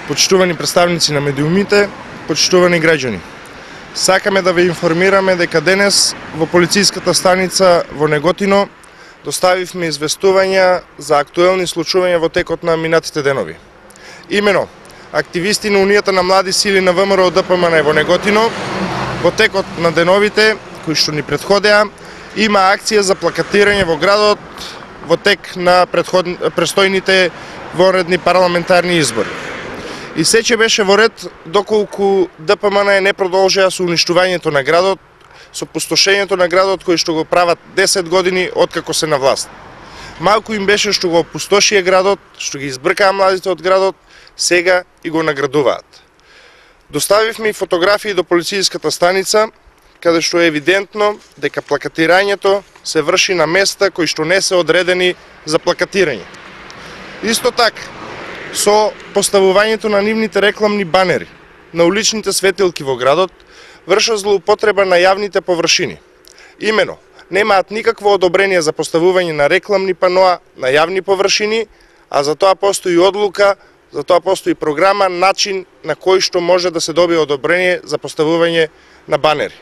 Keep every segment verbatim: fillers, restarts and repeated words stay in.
Почитувани представници на медиумите, почитувани граѓани. Сакаме да ве информираме дека денес во полициската станица во Неготино доставивме известувања за актуелни случувања во текот на минатите денови. Имено, активисти на Унијата на млади сили на ВМРО Д П М Н во Неготино во текот на деновите кои што ни претходеа има акција за плакатирање во градот во тек на престојните вонредни парламентарни избори. И сече беше во ред доколку Д П М Н не продолжеа со уништувањето на градот, со пустошењето на градот кој што го прават десет години откако се на власт. Малку им беше што го опустошија градот, што ги избркаа младите од градот, сега и го наградуваат. Доставивме и фотографии до полициската станица, каде што е евидентно дека плакатирањето се врши на места кои што не се одредени за плакатирање. Исто така, со поставувањето на нивните рекламни банери на уличните светилки во градот, вршат злоупотреба на јавните површини. Имено, немаат никакво одобрение за поставување на рекламни паноа на јавни површини, а за тоа постои одлука, за тоа постои програма, начин на кој што може да се добие одобрение за поставување на банери.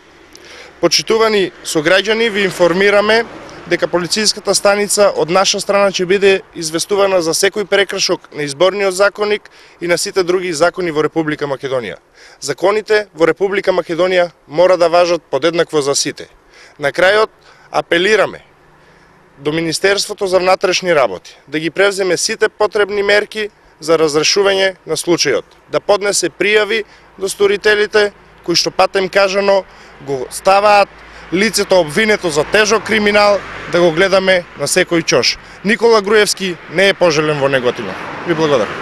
Почитувани сограѓани, ви информираме дека полициската станица од наша страна ќе биде известувана за секој прекршок на изборниот законник и на сите други закони во Република Македонија. Законите во Република Македонија мора да важат подеднакво за сите. На крајот апелираме до Министерството за внатрешни работи да ги превземе сите потребни мерки за разрешување на случајот, да поднесе пријави до сторителите кои што патем кажано го ставаат лицето обвинето за тежок криминал да го гледаме на секој чош. Никола Груевски не е пожелен во Неготино. Ви благодарам.